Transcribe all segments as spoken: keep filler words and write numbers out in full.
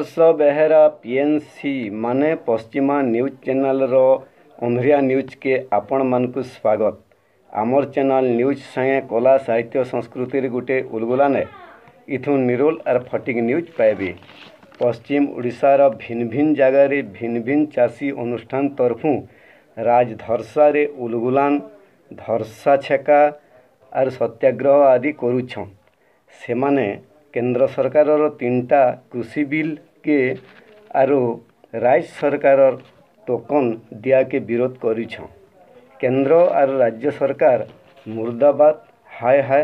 ଆଦର୍ଶ Behera PNC ମାନେ ପଶ୍ଚିମା news ଚ୍ୟାନେଲ୍ର ଅନ୍ଧ୍ରିଆ ନ୍ୟୁଜ୍କେ ଆପଣମାନଙ୍କୁ ସ୍ୱାଗତ। ଆମର୍ ଚ୍ୟାନେଲ୍ ନ୍ୟୁଜ୍ ସାଙ୍ଗେ କଲା, ସାହିତ୍ୟ, ସଂସ୍କୃତିର ଗୁଟେ ଉଲଗୁଲାନେ। ଇଥୁ ନିରୋଲ ଆର୍ ଫଟିକ୍ ନ୍ୟୁଜ୍ ପାଇବେ। ପଶ୍ଚିମ ଓଡ଼ିଶାର ଭିନ୍ ଭିନ୍ ଜାଗାରେ ଭିନ୍ ଭିନ୍ ଚାଷୀ ଅନୁଷ୍ଠାନ ତରଫୁଁ ରାଜଧର୍ସାରେ ଉଲଗୁଲାନ, ଧର୍ସା ଛେକା ଆର୍ ସତ୍ୟାଗ୍ରହ ଆଦି କରୁଛନ୍। ସେମାନେ କେନ୍ଦ୍ର ସରକାରର ତିନିଟା କୃଷି ବିଲ୍ କେ ଆରୁ ରାଜ୍ୟ ସରକାରର ଟୋକନ୍ ଦିଆକେ ବିରୋଧ କରିଛନ୍। କେନ୍ଦ୍ର ଆର୍ ରାଜ୍ୟ ସରକାର ମୁର୍ଦାବାଦ, ହାୟ ହାୟ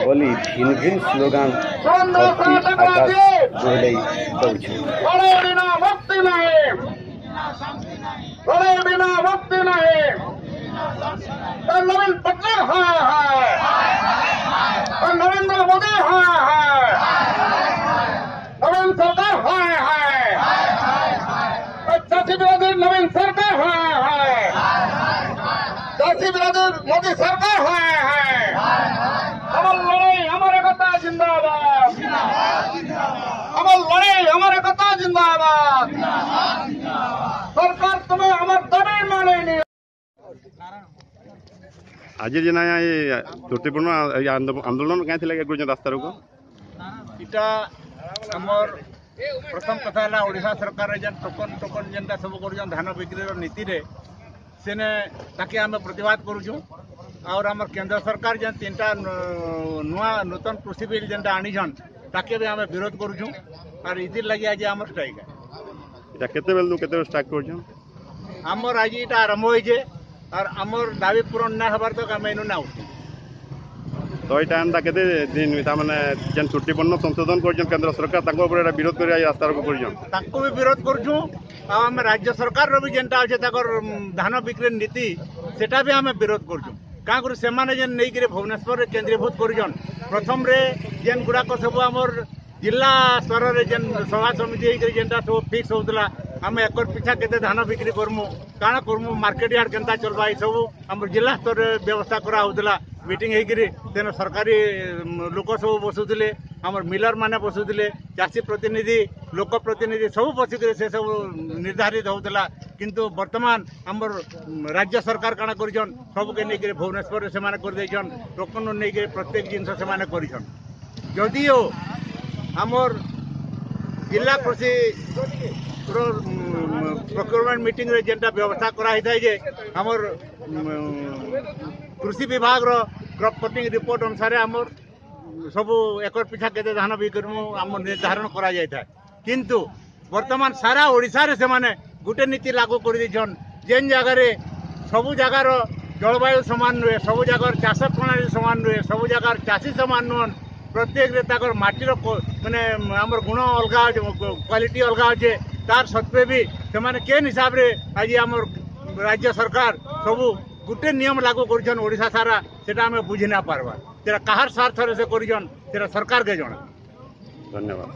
ବୋଲି ଭିନ୍ ଭିନ୍ ସ୍ଲୋଗାନ ଧରତୀ ଆକାଶ ଦୋହଲେଇ ଦଉଛନ୍। ଲଢ଼େଇ ବିନା ମୁକ୍ତି ନାହିଁ, ଲଢ଼େଇ ବିନା ମୁକ୍ତି ନାହିଁ। ନବୀନ ପଟ୍ଟନାୟକ ହାୟ ହାୟ, ନରେନ୍ଦ୍ର ମୋଦି ହାୟ ହାୟ, ନବୀନ ସରକାର ହାୟ ହାୟ, ଚାଷୀ ବିରୋଧୀ ନବୀନ ସରକାର ହାୟ ହାୟ, ଚାଷୀ ବିରୋଧୀ ମୋଦି ସରକାର ହାୟ ହାୟ। আমার লড়াই আমার একতা জিন্দাবাদ, আমার লড়াই আমার একতা জিন্দাবাদ। সরকার তুমি আমার দাবি মানেনি। ଆଜି ଯେନ୍ ଆଜ୍ଞା ଏ ତ୍ରୁଟିପୂର୍ଣ୍ଣ ଏଇ ଆନ୍ଦୋଳନ କାଇଁ ଥିଲା କରୁଛନ୍ ରାସ୍ତା ରୋକ? ଇଟା ଆମର୍ ପ୍ରଥମ କଥା ହେଲା, ଓଡ଼ିଶା ସରକାର ଯେନ୍ ଟୋକନ୍ ଟୋକନ୍ ଯେନ୍ଟା ସବୁ କରୁଛନ୍ ଧାନ ବିକ୍ରିର ନୀତିରେ, ସେନେ ତାକେ ଆମେ ପ୍ରତିବାଦ କରୁଛୁଁ। ଆଉର୍ ଆମର୍ କେନ୍ଦ୍ର ସରକାର ଯେନ୍ ତିନିଟା ନୂଆ ନୂତନ କୃଷି ବିଲ୍ ଯେନ୍ଟା ଆଣିଛନ୍, ତାକେ ବି ଆମେ ବିରୋଧ କରୁଛୁଁ। ଆର୍ ଇଥିର୍ ଲାଗି ଆଜି ଆମର୍ ଷ୍ଟ୍ରାଇକ୍। ଏଟା କେତେବେଳୁ କେତେବେଳେ ଷ୍ଟାର୍ଟ କରୁଛନ୍? ଆମର୍ ଆଜି ଇଟା ଆରମ୍ଭ ହେଇଛେ, ଆର୍ ଆମର୍ ଦାବି ପୂରଣ ନା ହେବାର୍ ତକ୍ ଆମେ ଇନୁ ନା ଉଠୁ। ତ ଏଇଟା ଏନ୍ତା କେତେ ଦିନ, ତାମାନେ ଯେନ୍ ତ୍ରୁଟିପୂର୍ଣ୍ଣ ସଂଶୋଧନ କରୁଛନ୍ କେନ୍ଦ୍ର ସରକାର, ତାଙ୍କ ଉପରେ ଏଟା ବିରୋଧ କରି ରାସ୍ତା ରୋକ କରୁଛନ୍? ତାଙ୍କୁ ବି ବିରୋଧ କରୁଛୁଁ, ଆଉ ଆମେ ରାଜ୍ୟ ସରକାରର ବି ଯେନ୍ଟା ଅଛେ ତାଙ୍କର ଧାନ ବିକ୍ରି ନୀତି, ସେଟା ବି ଆମେ ବିରୋଧ କରୁଛୁଁ। କାଁ କରି ସେମାନେ ଯେନ୍ ନେଇକିରି ଭୁବନେଶ୍ୱରରେ କେନ୍ଦ୍ରୀଭୂତ କରିଛନ୍, ପ୍ରଥମରେ ଯେନ୍ ଗୁଡ଼ାକ ସବୁ ଆମର୍ ଜିଲ୍ଲା ସ୍ତରରେ ଯେନ୍ ସଭା ସମିତି ହେଇକରି ଯେନ୍ଟା ସବୁ ଫିକ୍ସ ହଉଥିଲା, ଆମେ ଏକର ପିଛା କେତେ ଧାନ ବିକ୍ରି କରମୁ, କାଣା କରମୁ, ମାର୍କେଟ ୟାର୍ଡ କେନ୍ତା ଚଲବା, ଏସବୁ ଆମର ଜିଲ୍ଲା ସ୍ତରରେ ବ୍ୟବସ୍ଥା କରାହଉଥିଲା ମିଟିଂ ହେଇକିରି। ତେଣୁ ସରକାରୀ ଲୋକ ସବୁ ବସୁଥିଲେ, ଆମର ମିଲର ମାନେ ବସୁଥିଲେ, ଚାଷୀ ପ୍ରତିନିଧି, ଲୋକ ପ୍ରତିନିଧି ସବୁ ବସିକିରି ସେ ସବୁ ନିର୍ଦ୍ଧାରିତ ହଉଥିଲା। କିନ୍ତୁ ବର୍ତ୍ତମାନ ଆମର ରାଜ୍ୟ ସରକାର କାଣା କରିଛନ୍, ସବୁକେ ନେଇକିରି ଭୁବନେଶ୍ୱରରେ ସେମାନେ କରିଦେଇଛନ୍। ଟୋକନ ନେଇକିରି ପ୍ରତ୍ୟେକ ଜିନିଷ ସେମାନେ କରିଛନ୍। ଯଦିଓ ଆମର୍ ଜିଲ୍ଲା କୃଷି ପ୍ରୋକ୍ୟୁରମେଣ୍ଟ ମିଟିଂରେ ଯେନ୍ଟା ବ୍ୟବସ୍ଥା କରାହେଇଥାଏ ଯେ ଆମର୍ କୃଷି ବିଭାଗର କ୍ରପ୍ କଟିଂ ରିପୋର୍ଟ ଅନୁସାରେ ଆମର୍ ସବୁ ଏକର ପିଛା କେତେ ଧାନ ବିକ୍ରିମୁ ଆମର ନିର୍ଦ୍ଧାରଣ କରାଯାଇଥାଏ, କିନ୍ତୁ ବର୍ତ୍ତମାନ ସାରା ଓଡ଼ିଶାରେ ସେମାନେ ଗୋଟେ ନୀତି ଲାଗୁ କରିଦେଇଛନ୍, ଯେନ୍ ଜାଗାରେ ସବୁ ଜାଗାର ଜଳବାୟୁ ସମାନ ନୁହେଁ, ସବୁ ଜାଗାର ଚାଷ ପ୍ରଣାଳୀ ସମାନ ନୁହେଁ, ସବୁ ଜାଗାର ଚାଷୀ ସମାନ ନୁହନ୍, ପ୍ରତ୍ୟେକରେ ତାଙ୍କର ମାଟିର ମାନେ ଆମର ଗୁଣ ଅଲଗା ଅଛି, କ୍ୱାଲିଟି ଅଲଗା ଅଛେ। ତାର ସତ୍ତ୍ୱେ ବି ସେମାନେ କେନ୍ ହିସାବରେ ଆଜି ଆମର ରାଜ୍ୟ ସରକାର ସବୁ ଗୋଟେ ନିୟମ ଲାଗୁ କରିଛନ୍ ଓଡ଼ିଶା ସାରା, ସେଟା ଆମେ ବୁଝି ନା ପାରବା। ସେଟା କାହାର ସ୍ୱାର୍ଥରେ ସେ କରିଛନ୍, ସେଟା ସରକାରକେ ଜଣା। ଧନ୍ୟବାଦ।